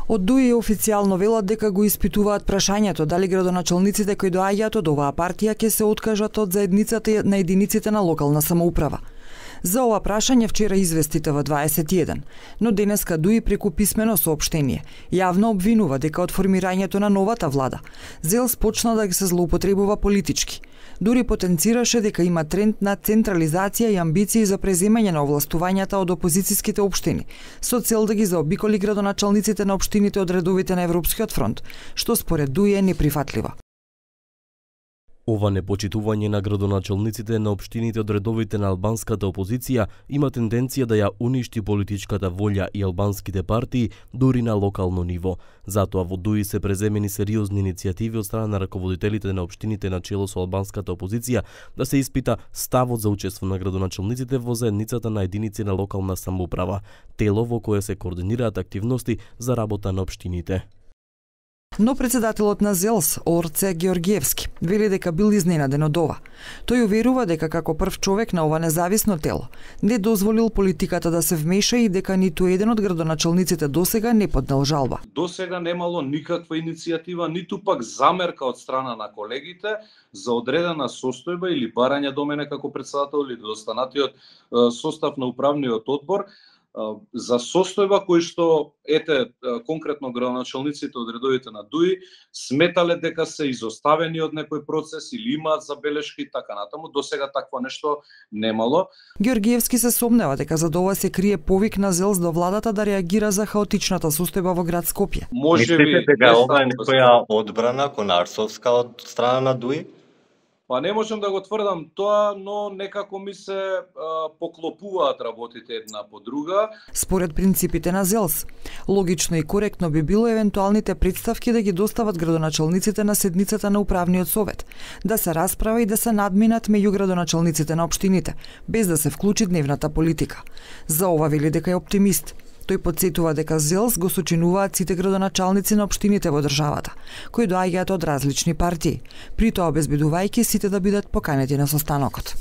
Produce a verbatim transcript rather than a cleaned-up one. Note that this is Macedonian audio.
Од Дуи официјално велат дека го испитуваат прашањето дали градоначалниците кои доаѓаат од оваа партија ќе се откажат од заедницата на единиците на локална самоуправа. За ова прашање вчера извести Т В дваесет и еден, но денеска Дуи преку писмено соопштение јавно обвинува дека од формирањето на новата влада ЗЕЛС почна да ги се злоупотребува политички. Дури потенцираше дека има тренд на централизација и амбиции за преземање на овластувањата од опозицијските општини, со цел да ги заобиколи градоначалниците на општините од редовите на Европскиот фронт, што според Дуи е неприфатливо. Ова непочитување на градоначалниците на општините од редовите на албанската опозиција има тенденција да ја уништи политичката волја и албанските партии дури на локално ниво. Затоа во Дуи се преземени сериозни иницијативи од страна на раководителите на општините на чело со албанската опозиција да се испита ставот за учество на градоначалниците во заедницата на единици на локална самоуправа, тело во кое се координираат активности за работа на општините. Но председателот на ЗЕЛС, Орце Георгиевски, вели дека бил изненаден од ова. Тој уверува дека како прв човек на ова независно тело не дозволил политиката да се вмеша и дека ниту еден од градоначалниците досега не поднел жалба. Досега немало никаква иницијатива, ниту пак замерка од страна на колегите за одредена состојба или барање до мене како председател или до останатиот состав на управниот одбор за состојба кој што ете конкретно градоначалниците од редовите на Дуи сметале дека се изоставени од некој процес или имаат забелешки и така натаму. Досега такво нешто немало. Георгиевски се сомнева дека за ова се крие повик на ЗЕЛС до владата да реагира за хаотичната состојба во град Скопје. Можеби дека ова е некоја одбрана конарсовска од страна на Дуи? Па не можам да го тврдам тоа, но некако ми се а, поклопуваат работите една по друга. Според принципите на ЗЕЛС, логично и коректно би било евентуалните представки да ги достават градоначалниците на седницата на управниот совет, да се расправа и да се надминат меѓу градоначалниците на општините, без да се вклучи дневната политика. За ова вели дека е оптимист. Тој потсетува дека ЗЕЛС го сочинуваат сите градоначалници на општините во државата, кои доаѓаат од различни партии, при тоа обезбедувајќи сите да бидат поканети на состанокот.